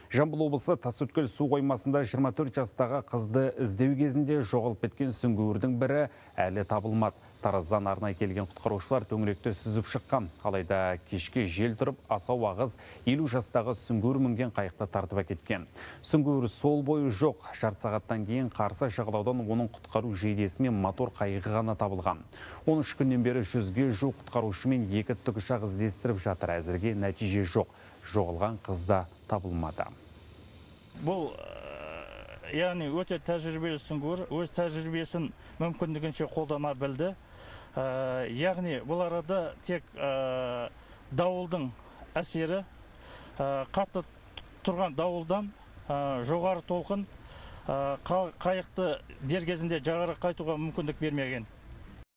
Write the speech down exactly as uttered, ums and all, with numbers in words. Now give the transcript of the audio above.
Жамбыл облысы Тасөткел су қоймасында жиырма төрт жастағы қызды іздеу кезінде жоғалып кеткен сүңгуірдің бірі әлі табылмады. Тараздан арнайы келген құтқарушылар төңіректі сүзіп шыққан. Алайда кешке жел тұрып, асау ағыз елу жастағы сүңгуір мінген қайықты тартып әкеткен. Сүңгуір сол бойы жоқ. Жарты сағаттан кейін қарсы жағалаудан оның құтқару жейдесі мен мотор қайығы ғана табылған. он үш күннен бері жүзге жуық құтқарушы мен екі тікұшақ іздестіріп жатыр. Әзірге нәтиже жоқ. Жоғалған қыз да табылмады. Бұл яғни өте тәжірибелі сүңгуір, өз тәжірибесін мүмкіндігінше қолдана білді. Яғни бұл арада тек дауылдың әсері, қатты тұрған дауылдан жоғары толқын қайықты дер кезінде жағаға қайтуға мүмкіндік бермеген.